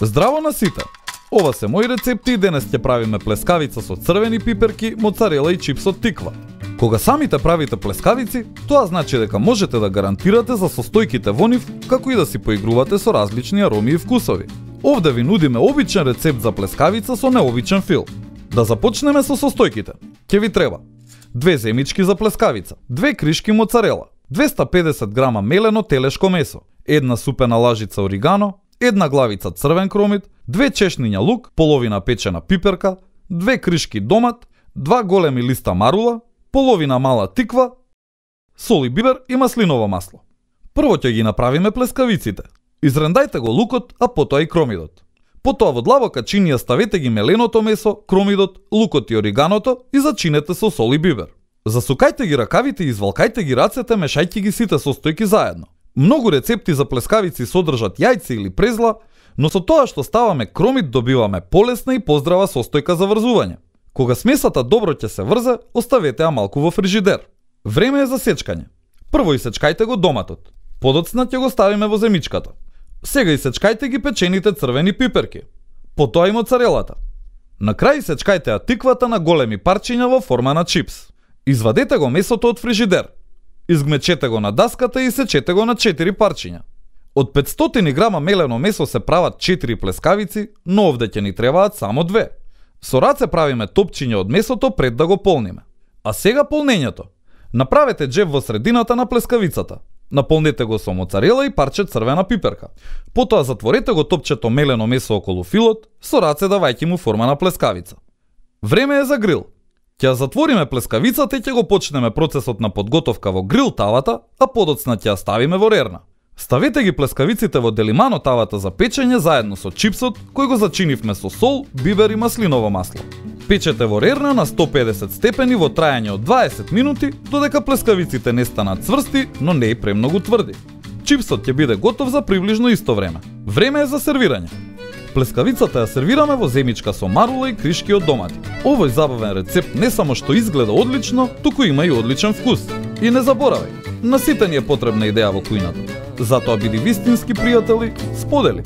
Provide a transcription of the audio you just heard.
Здраво на сите! Ова се мои рецепти и денес ќе правиме плескавица со црвени пиперки, моцарела и чипс од тиква. Кога самите правите плескавици, тоа значи дека можете да гарантирате за состојките во нив, како и да си поигрувате со различни ароми и вкусови. Овде ви нудиме обичен рецепт за плескавица со необичен фил. Да започнеме со состојките. Ќе ви треба 2 земички за плескавица, 2 кришки моцарела, 250 грама мелено телешко месо, 1 супена лажица оригано, 1 главица црвен кромит, 2 чешниња лук, половина печена пиперка, 2 кришки домат, 2 големи листа марула, половина мала тиква, сол и бибер и маслиново масло. Прво ќе ги направиме плескавиците. Изрендајте го лукот, а потоа и кромидот. Потоа во длабока чинија ставете ги меленото месо, кромидот, лукот и ориганото и зачинете со сол и бибер. Засукајте ги ракавите и извалкајте ги рацете мешајќи ги сите состојки заедно. Многу рецепти за плескавици содржат јајце или презла, но со тоа што ставаме кромит добиваме полесна и поздрава состојка за врзување. Кога смесата добро ќе се врзе, оставете ја малку во фрижидер. Време е за сечкање. Прво исечкајте го доматот. Подоцна ќе го ставиме во земичката. Сега исечкајте ги печените црвени пиперки. Потоа и моцарелата. На крај исечкајте ја тиквата на големи парчиња во форма на чипс. Извадете го месото од фрижидер. Изгмечете го на даската и сечете го на 4 парчиња. Од 500 грама мелено месо се прават 4 плескавици, но овде ќе ни требаат само 2. Со раце правиме топчиња од месото пред да го полниме. А сега полнењето. Направете џеб во средината на плескавицата. Наполнете го со моцарела и парче црвена пиперка. Потоа затворете го топчето мелено месо околу филот, со раце давајќи му форма на плескавица. Време е за грил. Ќе затвориме плескавицата и ќе го почнеме процесот на подготовка во грил тавата, а подоцна ќе ја ставиме во рерна. Ставете ги плескавиците во делимано тавата за печење заедно со чипсот, кој го зачинивме со сол, бибер и маслиново масло. Печете во рерна на 150 степени во трајање од 20 минути, додека плескавиците не станат цврсти, но не и премногу тврди. Чипсот ќе биде готов за приближно исто време. Време е за сервирање. Плескавицата ја сервираме во земичка со марула и кришки од домати. Овој забавен рецепт не само што изгледа одлично, туку има и одличен вкус. И не заборавај, на сите ни е потребна идеја во кујната. Затоа биди вистински пријатели, сподели.